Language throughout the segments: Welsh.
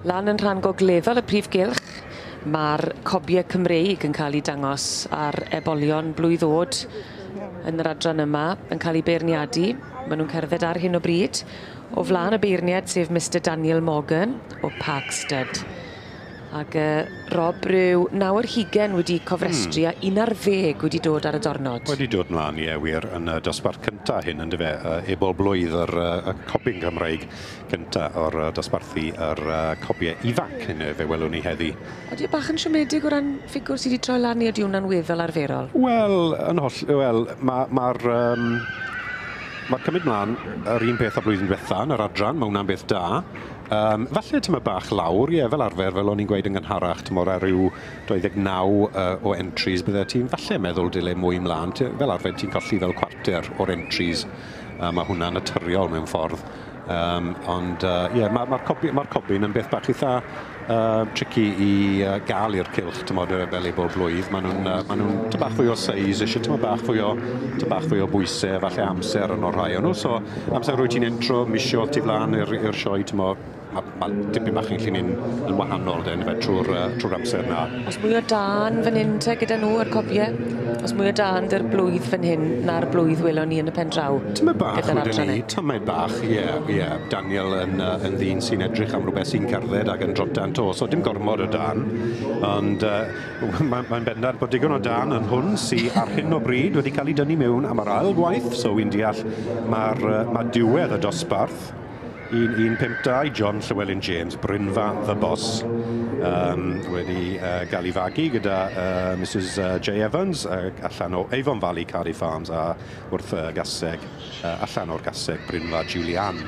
Lan yn rhan gogleddol y prif gylch, ma'r cobie Cymreig yn ca'l 'u dangos ar ebolion blwydd o'd yn yr adran yma yn ca'l 'u beirniadu. Ma' nw'n cerdded ar hyn o bryd o flan y beirniad sef Mistar Daniel Morgan o Park Stud. Ag Rob ryw 29 wedi cofrestru a 11 wedi dod ar y dornod. Wedi dod mlan ie wir yn y dosbarth cynta hyn yndyfe ebol blwydd yr y cobyn Cymreig cynta o'r dosbarthu yr cobie ifanc hyn fe welwn ni heddi. Odi e bach yn siomedig o ran ffigwr sy 'di troi lan neu ydi wnna'n weddol arferol? Wel yn holl- wel ma' ma'r yym ma'r cymryd mlan yr un peth â blwyddyn dwetha yn yr adran ma' wnna'n beth da. Falle tymed bach lawr, ie, fel arfer, fel o'n i'n gweud yn gynharach, tymor ar ryw 29 o entries, bydde ti'n falle meddwl dyle mwy mlaen. Fel arfer ti'n colli fel cwarter o'r entries, mae hwnna'n naturiol mewn ffordd. Ond ie, mae'r cobyn yn beth bach eitha tricky i gael i'r cylch, tymod, fel ei bob blwydd. Maen nhw'n bach fwy o size, eisiau tymed bach fwy o bwysau, falle amser yn o'r rhai o'n nhw. So amser rwy ti'n intro, misio ti flan i'r sioe, tymod, mae dipyn bach yn gallu mynd yn wahanol den, fe, trwy'r amser na. Os mwy o dân fan hyn te gyda nhw ar cobiau? Os mwy o dân dy'r blwydd fan hyn na'r blwydd welon ni yn y pen draw? Tymed bach wedyn ni, tymed bach, ie, ie. Daniel yn ddyn sy'n edrych am rhywbeth sy'n cerdded ac yn drotan to, so dim gormod o dân. Ond mae'n bendant bod digon o dân yn hwn sy ar hyn o bryd wedi cael ei dynnu mewn am yr ail gwaith, so wy'n deall mae diwedd y dosbarth 1-1-5-2, John Llewellyn James, Brynfa the Boss, wedi gael ei fagu gyda Mrs J Evans allan o Avon Valley Cardiff Farms a wrth gaseg, allan o'r gaseg Brynfa Julian.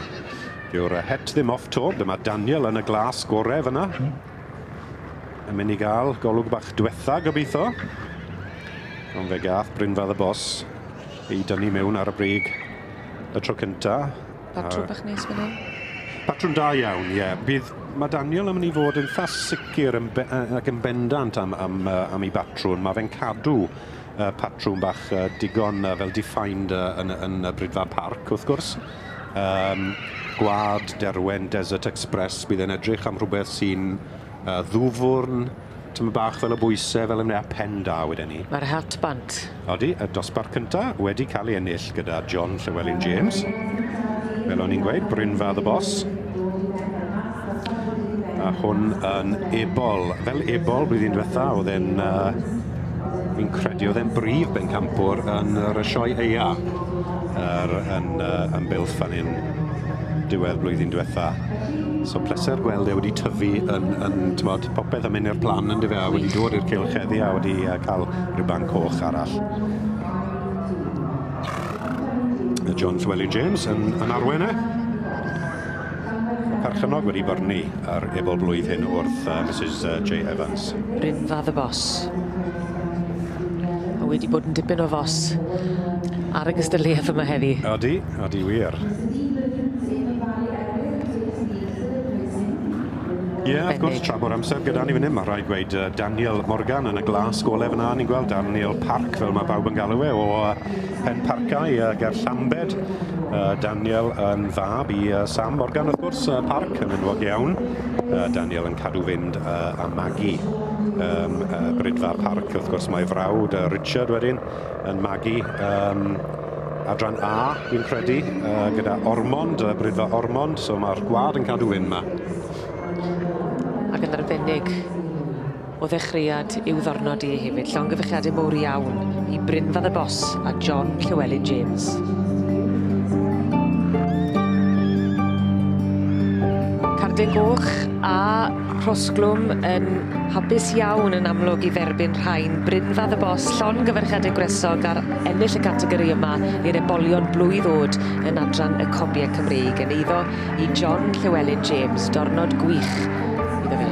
Dyw'r het ddim off to, dyma Daniel yn y glas gore fyna. Yn mynd i gael golwg bach diwetha gobeithio. Ond fe gath Brynfa the Boss ei dynnu mewn ar y brig y tro cynta. Patrwm bach neis fan hyn? Patrwm da iawn, ie. Mae Daniel yn mynd i fod yn eitha sicr ac yn bendant am ei batrwm. Mae fe'n cadw patrwm bach digon fel defined yn y Brydfa Parc, wrth gwrs. Gwad, Derwen, Desert Express, bydd e'n edrych am rhywbeth sy'n ddwfwrn, tymed bach fel y bwysau, fel ymwneud â pen da wedyn ni. Mae'r hat bant. Odi, y dosbarth cynta wedi cael ei ennill gyda John Llewellyn James. Fel o'n i'n gweud, Brynfa the Boss. A hwn yn ebol. Fel ebol blwyddyn diwetha, oedd e'n, fi'n credu, oedd e'n brif bencampwr yn yr sioe eia yn Builth fan hyn diwedd blwyddyn diwetha. So pleser gweld e wedi tyfu yn tymod, popeth yn mynd i'r plan yn dyfe, a wedi dod i'r cylch heddi a wedi cael rhuban coch arall. John Llewellyn James yn arwain e. Perchennog wedi byrnu ar ebol blwydd hyn wrth Mrs J Evans. Brynfa the Boss. A wedi bod yn dipyn o fos ar y gystadleuaeth yma heddi. Odi, odi wir. Ie, wrth gwrs, tra bod amser gyda ni fan hyn, mae rhaid gweud Daniel Morgan yn y glas gole fyna, ni'n gweld Daniel Park, fel mae pawb yn galw e, o Pen Parcau ger Llambed. Daniel yn fab i Sam Morgan, wrth gwrs, Park yn enwog iawn. Daniel yn cadw fynd a magu Brydfa Park, wrth gwrs, mae frawd Richard wedyn yn magu adran A, fi'n credu, gyda Ormond, Brydfa Ormond, so mae'r gwad yn cadw fynd yma. Ac yn arbennig o ddechreuad i'w ddornod i hefyd. Llongyfarchiadau mowr iawn i Brynfa the Boss a John Llewellyn James. Cardyn goch a Rhosglwm yn hapus iawn yn amlwg i dderbyn rhain. Brynfa the Boss, llongyfarchiadau gwresog ar ennill y categori yma i'r ebolion blwydd o'd yn adran y cobiau Cymreig yn eiddo i John Llewellyn James. Dornod gwych iddo fe.